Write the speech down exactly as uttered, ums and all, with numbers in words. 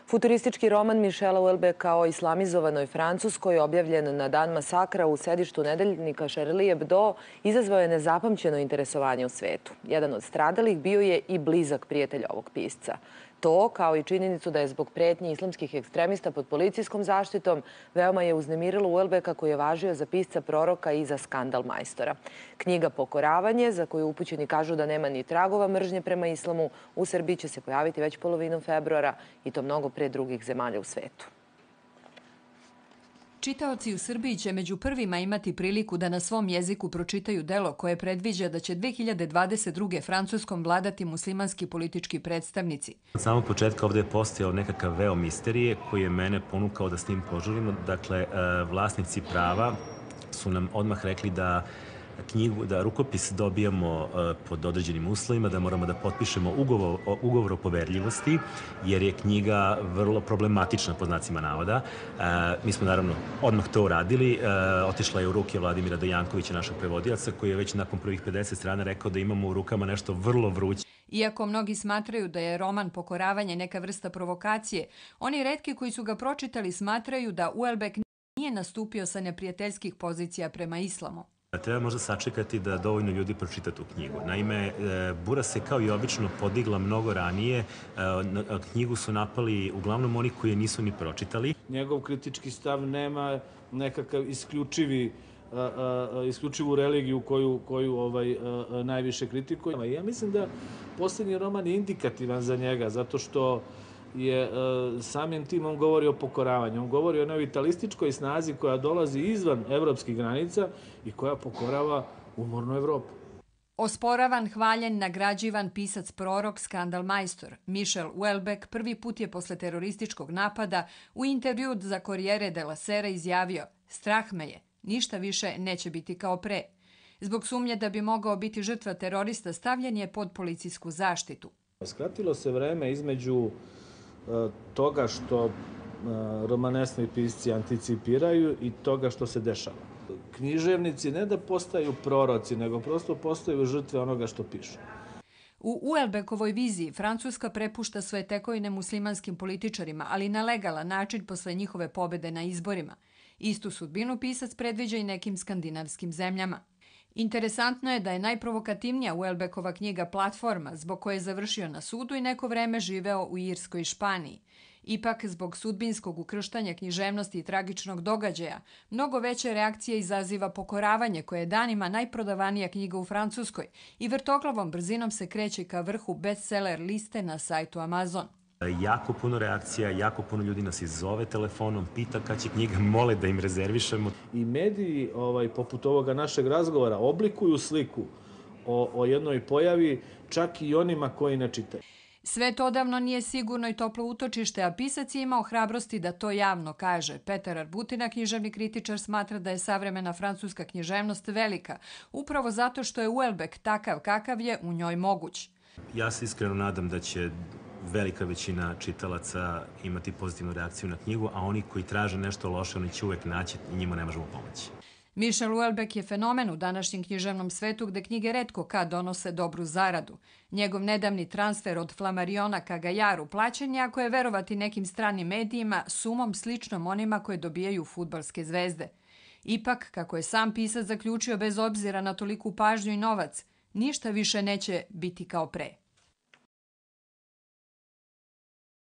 Futuristički roman Michela Houellebecqa o islamizovanoj Francuskoj, objavljen na dan masakra u sedištu nedeljnika Charlie Hebdo, izazvao je nezapamćeno interesovanje u svetu. Jedan od stradalih bio je i blizak prijatelj ovog pisca. To, kao i činjenicu da je zbog pretnji islamskih ekstremista pod policijskom zaštitom, veoma je uznemirilo Houellebecqa, koji je važio za pisca proroka i za skandal majstora. Knjiga Pokoravanje, za koju upućeni kažu da nema ni tragova mržnje prema islamu, u Srbiji će se pojaviti već polovinom februara i to mnogo pre drugih zemalja u svetu. Čitaoci u Srbiji će među prvima imati priliku da na svom jeziku pročitaju delo koje predviđa da će dve hiljade dvadeset druge Francuskom vladati muslimanski politički predstavnici. Od samog početka ovdje je postojao nekakav veo misterije koji je mene ponukao da s njim požurimo. Dakle, vlasnici prava su nam odmah rekli da knjigu, da rukopis dobijamo pod određenim uslovima, da moramo da potpišemo ugovor, ugovor o poverljivosti, jer je knjiga vrlo problematična, pod znacima navoda. Mi smo naravno odmah to uradili. Otišla je u ruke Vladimira Dojankovića, našeg prevodioca, koji je već nakon prvih pedeset strana rekao da imamo u rukama nešto vrlo vruće. Iako mnogi smatraju da je roman Pokoravanje neka vrsta provokacije, oni retki koji su ga pročitali smatraju da Houellebecq nije nastupio sa neprijateljskih pozicija prema islamu. Treba možda sačekati da dovoljno ljudi pročita tu knjigu. Naime, bura se kao i obično podigla mnogo ranije. Knjigu su napali uglavnom oni koji je nisu ni pročitali. Njegov kritički stav nema nekakav isključivi isključivu religiju koju, koju ovaj, najviše kritikuje. Ja mislim da posljednji roman je indikativan za njega, zato što je samim tim on govori o pokoravanju. On govori o jednoj vitalističkoj snazi koja dolazi izvan evropskih granica i koja pokorava umornu Evropu. Osporavan, hvaljen, nagrađivan pisac prorok, skandal majstor Michel Houellebecq prvi put je posle terorističkog napada u intervju za Corriere della Sera izjavio: "Strah me je, ništa više neće biti kao pre." Zbog sumnje da bi mogao biti žrtva terorista, stavljen je pod policijsku zaštitu. Skratilo se vreme između toga što romanesni pisci anticipiraju i toga što se dešava. Književnici ne da postaju proroci, nego prosto postaju žrtve onoga što pišu. U Houellebecqovoj viziji Francuska prepušta svoje tekovine muslimanskim političarima, ali na legalan način posle njihove pobede na izborima. Istu sudbinu pisac predviđa i nekim skandinavskim zemljama. Interesantno je da je najprovokativnija Houellebecqova knjiga Platforma, zbog koje je završio na sudu i neko vreme živeo u Irskoj i Španiji. Ipak, zbog sudbinskog ukrštanja književnosti i tragičnog događaja, mnogo veće reakcije izaziva Pokoravanje, koje je danima najprodavanija knjiga u Francuskoj i vrtoglavom brzinom se kreće ka vrhu bestseller liste na sajtu Amazon. Jako puno reakcija, jako puno ljudi nas izzove telefonom, pita kad će knjiga, mole da im rezervišemo. I mediji, ovaj, poput ovoga našeg razgovora, oblikuju sliku o, o jednoj pojavi, čak i onima koji ne čitaju. Sve to odavno nije sigurno i toplo utočište, a pisac je imao hrabrosti da to javno kaže. Petar Arbutina, književni kritičar, smatra da je savremena francuska književnost velika, upravo zato što je Houellebecq takav kakav je u njoj moguć. Ja se iskreno nadam da će velika većina čitalaca imati pozitivnu reakciju na knjigu, a oni koji traže nešto loše, oni će uvek naći i njima ne možemo pomoći. Michel Houellebecq je fenomen u današnjem književnom svetu gde knjige retko kad donose dobru zaradu. Njegov nedavni transfer od Flammariona ka Gaillardu plaćen je, ako je verovati nekim stranim medijima, sumom sličnom onima koje dobijaju fudbalske zvezde. Ipak, kako je sam pisac zaključio, bez obzira na toliku pažnju i novac, ništa više neće biti kao pre.